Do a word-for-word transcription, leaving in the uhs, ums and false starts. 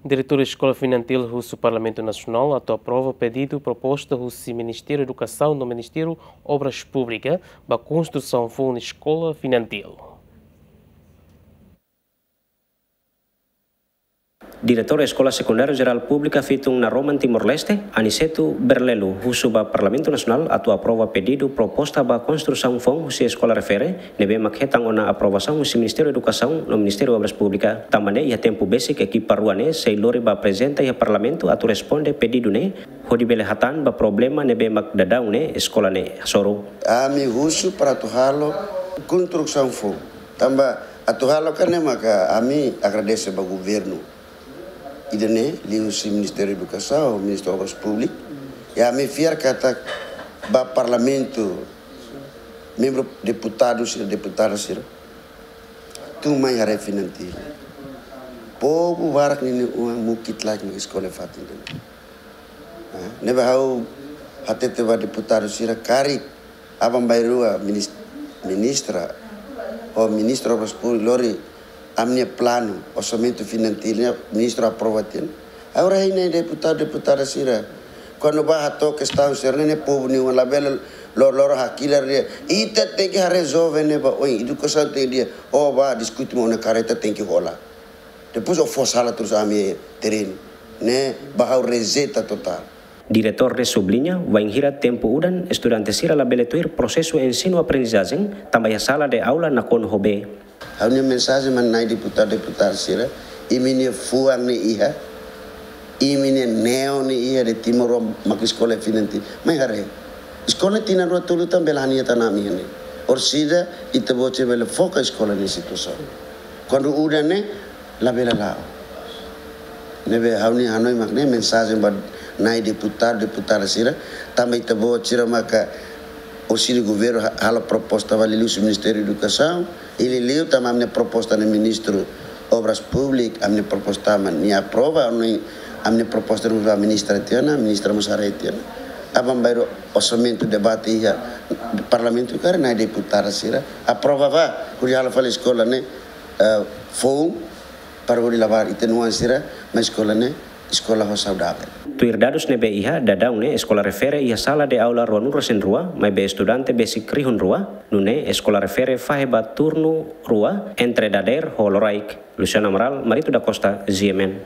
Diretór Eskola Fin Antil husu Parlamentu Nasionál atu aprova pedidu proposta husi Ministériu Edukasaun no Ministériu Obras Públikas ba konstrusaun foun eskola Fin Antil. Diretór Eskola Sekundáriu Jerál Públika Fitun Naroman Timor-Leste, Aniceto Berlelo, husu ba Parlamentu Nasionál atu aprova pedidu proposta ba konstrusaun foun husi eskola refere, ne'ebé mak hetan ona aprovasaun husi Ministériu Edukasaun no Ministériu Obras Públikas. Tanba ne'e iha tempu besik ekipa rua ne'e sei lori ba aprezenta iha Parlamentu atu responde pedidu ne'e, hodi bele hatán ba problema ne'ebé mak daudaun ne'e eskola ne'e hasoru. Ami husu para atu halo konstrusaun foun. Tanba atu halo karik ne'e maka ami agradese ba governu ida-ne'e, liuhusi Ministériu Edukasaun, Ministru Obras Públikas. I ami fiar katak ba Parlamentu, membru deputadu sira, deputada sira tun mai haree Fin Antil. Povu barak ninia oan mukit laek no eskola fatin ida-ne'e. Ah, ne'ebé ha'u hatete ba deputadu sira karik aban-bainrua minis-, ministra, ho Ministru Obras Públikas lori ami-nia planu, orsamentu Fin Antil ne'e, ministru aprova tiha ona. Agora hein ne'e deputadu, deputada sira, kuandu bá hato'o kestaun sira-ne'e, ne'e povu nia oan, labele loroloron hakilar de'it. Ita tenke haree jovem ne'e ba oin, edukasaun tenke di'ak, ó bá diskute mak ó-nia kareta tenke hola. Depois ó fó sala terus ami terrenu. Ne'e ba ha'u rejeita totál. Diretór ne'e subliña, wainhira tempu udan, estudante sira labele tuir prosesu ensinu-aprendizajen, tanba iha sala de aula nakonu ho bee. Ha'u-nia mensajen mai nai deputadu, deputada sira, imi-nia fuan ne'e iha, imi-nia neon ne'e iha de'it, Timor mak eskola Fin Antil. Mai haree. Eskola tinan rua tolu tan bele ha'u-nia tanami iha ne'e. Orsida ita-boot sira bele foka eskola nia situasaun. Kuandu udan ne'e, labele la'o. Ne'ebé ha'u-nia hanoin mak ne'e, mensajen ba nai deputadu, deputada sira, tanba ita-boot sira maka orsida governu ha-, halo proposta ba liuhusi Ministériu Edukasaun, i liuliu tanba ami-nia proposta ne'e Ministru Obras Públikas, ami-nia proposta mak nia aprova, no ami-nia proposta mós ba ministra tiha ona, ministra mós haree tiha ona. Aban-bainrua orsamentu debate iha Parlamentu karik nai deputadu sira aprova ba, hodi halo fali eskola ne'e, eh, foun, para hodi labarik ita-nia oan sira mai eskola ne'e, eskola ho saudavel. Tuir dadus ne'ebé iha, daudaun ne'e eskola refere iha sala de aula ruanulu-resin-rua, maibé estudante besik rihun rua, nune'e eskola refere fahe ba turnu rua entre dadeer ho loraik. Luciano Amaral, Marito da Costa, G M N.